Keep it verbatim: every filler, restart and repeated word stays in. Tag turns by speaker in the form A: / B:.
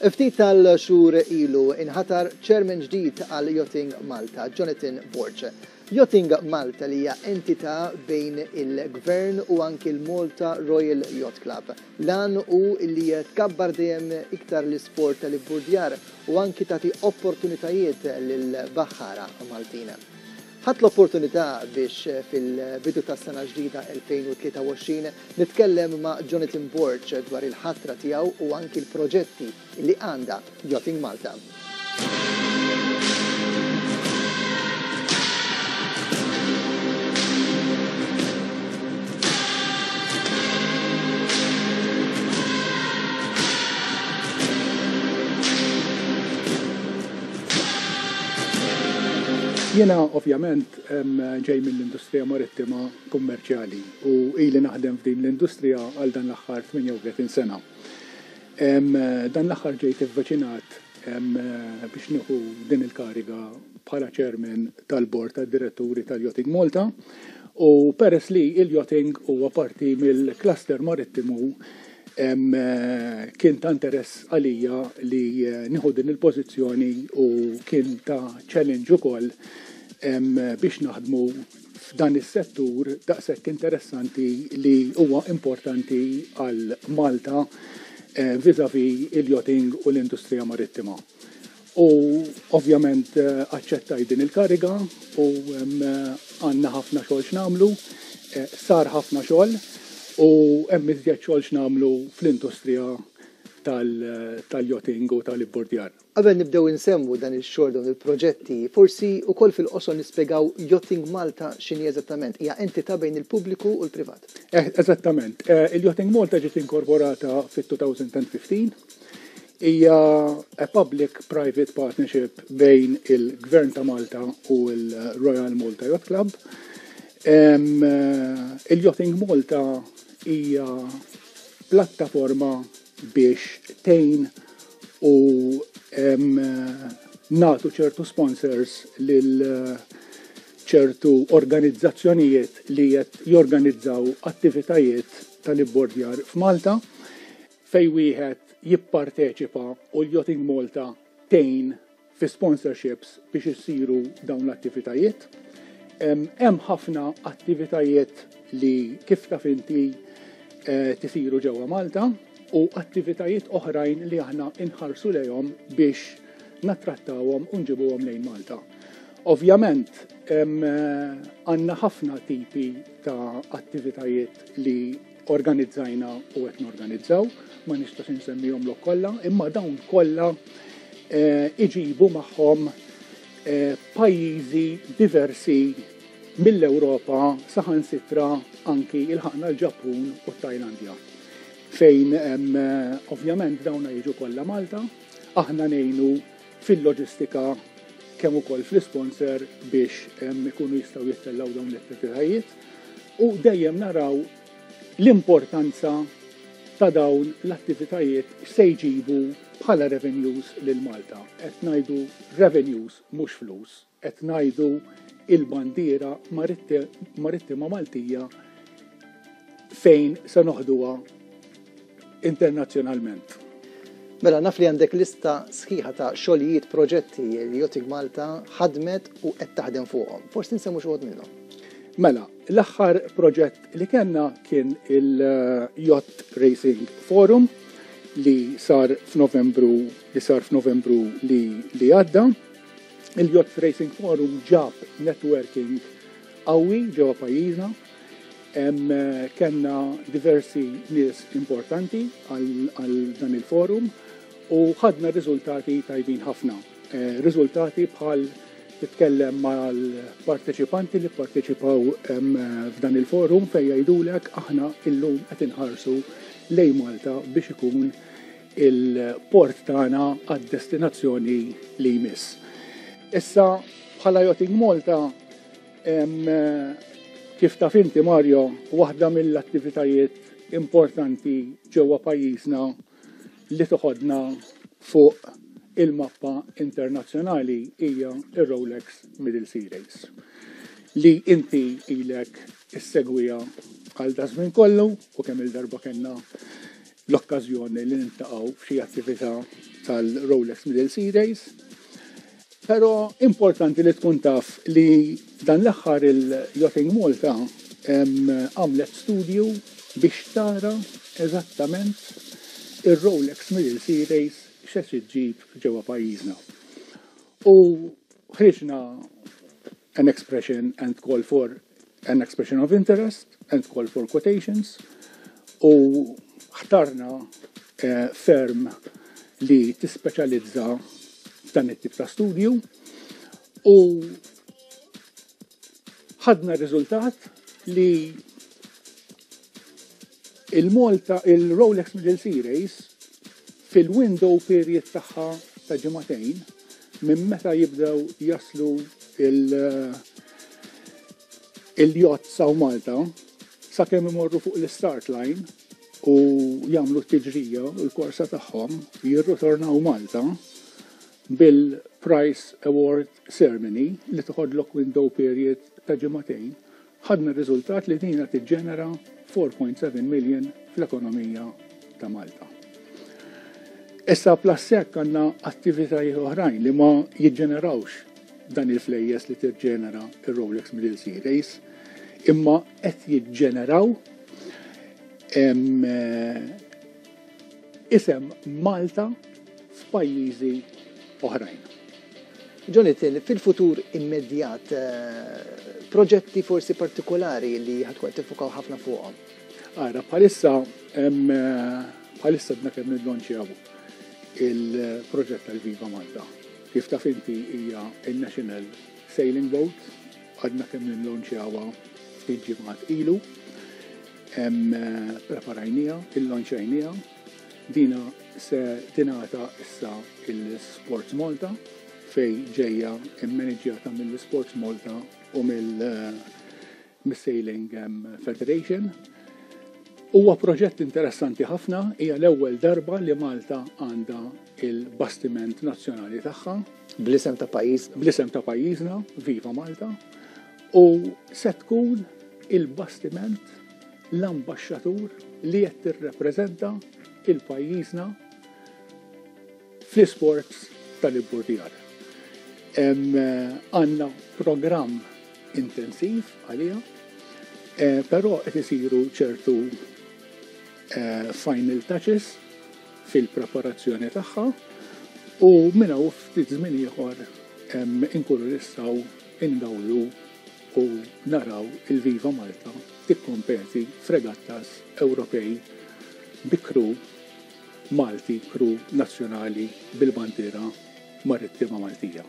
A: Ftit tal-xhur ilu inħatar chairman ġdid għal Yachting Malta, Jonathan Borg. Yachting Malta li hija entità bejn il-Gvern u anki l-Malta Royal Yacht Club. L-għan hu li tkabbar dejjem iktar l-isport tal-ibburdjar u anki tagħti opportunitajiet lil-baħħara Maltin. Ħadt l-opportunità biex fil-bidu tas-sena ġdida elfejn u tlieta u għoxrin nitkellem ma' Jonathan Borg dwar il-ħatra tiegħu u anki l-proġetti li għandha Yachting Malta.
B: Jena ovvjament ġej mill-industrija marittima kummerċjali u ili naħdem f'din l-industrija għal dan l-aħħar tmienja u tletin sena. Dan l-aħħar ġejt ivviċinat biex nieħu din il-kariga bħala chairman tal-bord tad-diretturi tal-Yachting Malta u peress li il-yachting huwa parti mill-cluster marittimu, kien ta' interess għalija li nieħu din il-pożizzjoni u kien ta' challenge ukoll biex naħdmu f'dan is-settur daqshekk interessanti li huwa importanti għal Malta eh, vis-a-vis il-yachting u l-industrija marittima. U ovvjament eh, aċċettaj din il-kariga u għandna ħafna xogħol x'nagħmlu, eh, sar ħafna xogħol u hemm iżjed xogħol x'nagħmlu fl-industrija tal-yachting u tal-ibburdjar.
A: Qabel nibdew insemmu dan il-xogħol, dawn il-proġetti, forsi wkoll fil-qosor nispjegaw Yachting Malta x'inhi eżattament. Hija entità bejn il-pubbliku u l-privat.
B: Eh, eżattament. Eh, Il-Yachting Malta ġiet inkorporata fit-elfejn u ħmistax. Hija a public-private partnership bejn il-Gvern ta' Malta u l-Royal Malta Yacht Club. Eh, Il-Yachting Malta hija plattaforma biex tgħin u nagħtu ċertu sponsors lil ċertu organizzazzjonijiet li qed jorganizzaw attivitajiet tal-ibbordjar f'Malta, fej wieħed jipparteċipa u l-Yachting Malta tgħin fi sponsorships biex issiru dawn l-attivitajiet. Hemm ħafna attivitajiet li, kif taf inti, eh, tisiru ġewwa Malta u attivitajiet oħrajn li aħna inħarsu lejhom biex nattrattawhom u nġibuhom lejn Malta. Ovvjament, għandna ħafna tipi ta' attivitajiet li organizzajna u qed norganizzaw, ma nistax insemmihom kollha, imma dawn kollha eh, iġibu magħhom eh, pajjiżi diversi mill-Ewropa, saħansitra anki ilħaqna l-Ġappun u t-Tajlandja. Fejn ovvjament dawna jiġu kollha Malta, aħna ngħinu fil-loġistika kemm ukoll fl-sponsor biex ikunu jistgħu jittellaw dawn l-attivitajiet u dejjem naraw l-importanza ta' dawn l-attivitajiet se jġibu bħala revenues lil Malta. Qed ngħidu revenues, mhux flus, qed ngħidu il-bandiera marittima Maltija fejn se noħduha internazzjonalment.
A: Mela, naf li għandek lista sħiħa ta' xogħlijiet, proġetti li Yachting Malta ħadmet u qed taħdem fuqhom. Forsi nsemmu xi minnhom.
B: Mela, l-aħħar proġett li kellna kien il-Yacht Racing Forum li sar f'Novembru li sar f'Novembru li, li għadda. Il-Yacht Racing Forum ġab networking qawwi ġewwa pajjiżna. Kellna diversi nies importanti għal dan il-forum u ħadna riżultati tajbin ħafna. Eh, riżultati bħal titkellem mal-parteċipanti li parteċipaw f'dan il-forum fejn jgħidulek: "Aħna illum qed inħarsu lejn Malta biex ikun il-port tagħna għad-destinazzjoni li jmiss." Issa, bħala Yachting Malta, kif taf inti, Mario, waħda mill-attivitajiet importanti ġewwa pajjiżna li toħodna fuq il-mappa internazzjonali hija il-Rolex Middle Sea Race li inti ilek issegwiha għal daż-żmien kollu u kemm il-darba kellna L-okkażjoni li niltaqgħu f'xi attività tal-Rolex Middle Sea Race. Però importanti li tkun taf li dan l-aħħar il-Yachting Malta għamlet studju biex tara eżattament il-Rolex Middle Sea Race x'se ġġib ġewwa pajjiżna. U ħriġna an expression and call for an expression of interest and call for quotations u ħtarna eh, firm li tispeċjalizza f'dan it-tip ta' studju u ħadna riżultat li il-Malta, il-Rolex Middle Sea Race fil-window period tagħha ta' ġimagħtejn minn meta jibdew jaslu il- il-yacht sa Malta sakemm imorru fuq l-start line u jagħmlu t-tiġrija u l-korsa tagħhom, jirritornaw Malta bil-Prize Award Ceremony li toħodlok window period ta' ġimagħtejn, ħadna riżultat li dina tiġġenera four point seven million fl-ekonomija ta' Malta. Issa plus hekk għandna attivitajiet oħrajn li ma jiġġenerawx dan il-flejjes li tiġġenera il-Rolex Middle Sea Race, imma qed jiġġeneraw em, eh, isem Malta f'pajjiżi oħrajn.
A: Jonathan, fil-futur immedjat, eh, proġetti forsi partikolari li ħa tkun tiffukaw ħafna fuqhom?
B: Ara, bħalissa em, eh, bħalissa għadna kemm nillonċjaw il-proġett tal-Viva Malta. Kif taf inti, hija il-National Sailing Boat, għadna kemm nillonċjawha ftit ġimgħat ilu. Em, eh, Preparajnieha, illonċjajnieha, dina se tingħata issa il-Sports Malta, fej ġejja immaniġjata mill-Sports Malta u mill Sailing Federation. Huwa proġett interessanti ħafna, hija l-ewwel darba li Malta għandha il-bastiment nazzjonali tagħha.
A: Bl-isem ta' pajjiż.
B: Bl-isem ta' pajjiżna, Viva Malta, u se tkun il-bastiment l-ambaxxatur li qed tirrepreżenta il-pajjiżna fl-sports tal-ibburdjar. Għandna programm intensiv għalija, eh, però qed isiru ċertu eh, final touches fil-preparazzjoni tagħha u minn hawn ftit żmien ieħor inkunu nistgħu ingawdu u naraw il-Viva Malta tikkompeti f'regattas Ewropej bi crew Malti, crew nazzjonali bil-bandiera marittima Maltija.